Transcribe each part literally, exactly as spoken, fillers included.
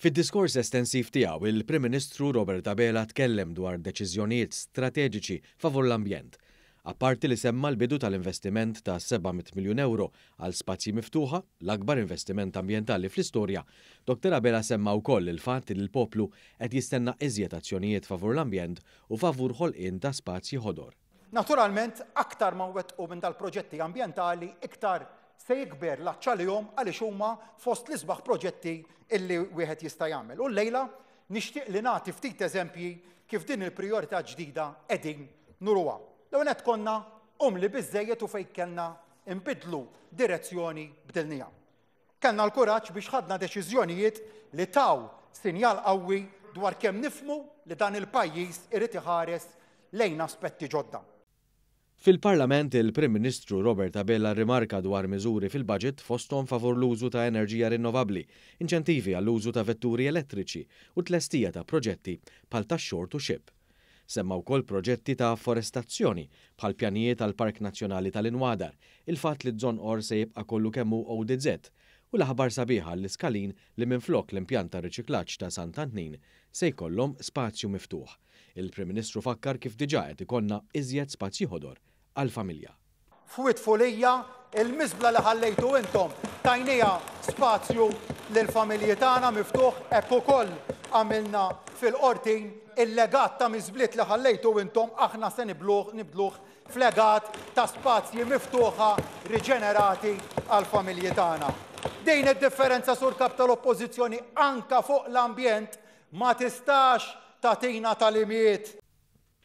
Fid-diskors estensiv tiegħu, il-Prim Ministru Robert Abela tkellem dwar deċiżjonijiet strateġiċi favur l-ambjent. Apparti li semma l-bidu tal-investiment ta' seba' mitt miljun euro għal spazji miftuħa, l-akbar investiment ambjentali fl-istorja, Doktor Abela semma wkoll il-fatt li l-poplu qed jistenna iżjed azzjonijiet favur l-ambjent u favur ħolqien ta' spazji ħodor. Naturalment, aktar ma nwettqu minn dal-proġetti ambjentali, iktar se jikber l-għatx għalihom, għaliex huma fost l-isbaħ proġetti illi wieħed jista' jagħmel. U llejla nixtieq li nagħti ftit eżempji kif din il-prijorità ġdida qegħdin nuruha. L-ewwel nett, konna umli biżejjed u fejn kellna nbidlu direzzjoni bdilniha. Kellna l-kuraġġ biex ħadna deċiżjonijiet li taw sinjal qawwi dwar kemm nifhmu li dan il-pajjiż irid iħares lejn aspetti ġodda. Fil-Parlament, il-Prim Ministru Robert Abela rimarka dwar miżuri fil-budget, fosthom favur l-użu ta' enerġija rinnovabbli, inċentivi għall-użu ta' vetturi elettriċi u tlestija ta' proġetti bħal ta' shore to ship. Semma wkoll proġetti ta' forestazzjoni bħal pjanijiet għal Park Nazzjonali tal-Inwadar, il-fatt li Żonqor se jibqa' kollu kemm hu O D Z u l-aħbar sabiħa l-Iskalin li minflok l-impjant ta' riċiklaġġ ta' Sant'Antnin se jkollhom spazju miftuħ. Il-Prim Ministru fakkar kif diġà qed ikollna iżjed spazji ħodor għal-familja. F'Wied Fulija, il-miżbla li ħallejtu intom tajnieha spazju lill-familji tagħna miftuħ. Hekk ukoll għamilna fil-Qortin, il-legat ta' miżbliet li ħallejtu intom aħna se nibdluh nibdluh f'legat ta' spazji miftuħa riġenerati għal-familji tagħna. Din id-differenza, Sur Kap tal-Oppożizzjoni, anka fuq l-ambjent ma tistax tagħtina tagħlimiet.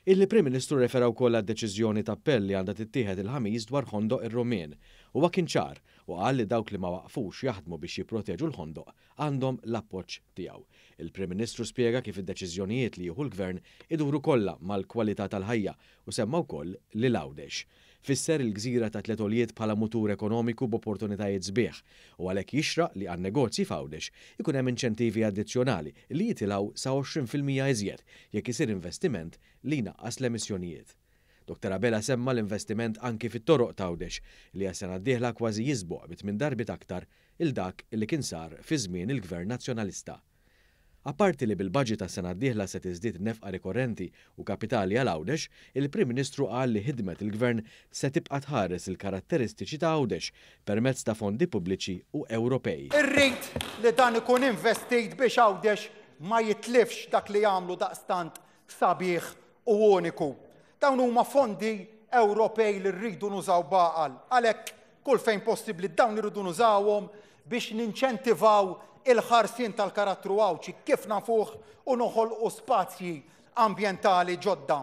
Il-Prim Ministru refera wkoll għad-deċiżjoni ta' appell li għandha tittieħed il-Ħamis dwar Ħondoq ir-Rummien. Huwa kien ċar u qal li dawk li ma waqfux jaħdmu biex jipproteġu l-ħondoq għandhom l-appoġġ tiegħu. Il-Prim Ministru spjega kif id-deċiżjonijiet li jieħu l-Gvern iduru kollha mal-kwalità tal-ħajja u semma wkoll lil Għawdex. Fisser il-gżira ta' tliet għoljiet bħala mutur ekonomiku b'opportunitajiet sbieħ u għalhekk jixraq li għan negozji f'Għawdex ikun hemm inċentivi addizzjonali li jitilgħu sa għoxrin fil-mija iżjed jekk isir investiment li jnaqqas l-emissjonijiet. Doktor Abela semma l-investiment anki fit-toroq t'Għawdex li għas-sena d-dieħla kważi jisboq bi tmien darbiet aktar 'il dak li kien sar fi żmien il-Gvern Nazzjonalista. Apparti li bil-budget ta' sena d-dieħla se tiżdied nefqa rikorrenti u kapitali għal Għawdex, il-Prim Ministru qal li ħidmet il-Gvern se tibqa' tħares il-karatteristiċi ta' Għawdex permezz ta' fondi pubbliċi u Ewropej. Irrid li dan ikun investit biex Għawdex ma jitlifx dak li jagħmlu daqstant sabiħ u uniku. Dawn huma fondi Ewropej li rridu nużaw b'għaqal. Għalhekk, kull fejn possibbli, dawn irridu nużawhom biex ninċentivaw il-ħarsien tal-karattru Għawdxi kif nafuh u noħolqu spazji ambjentali ġodda.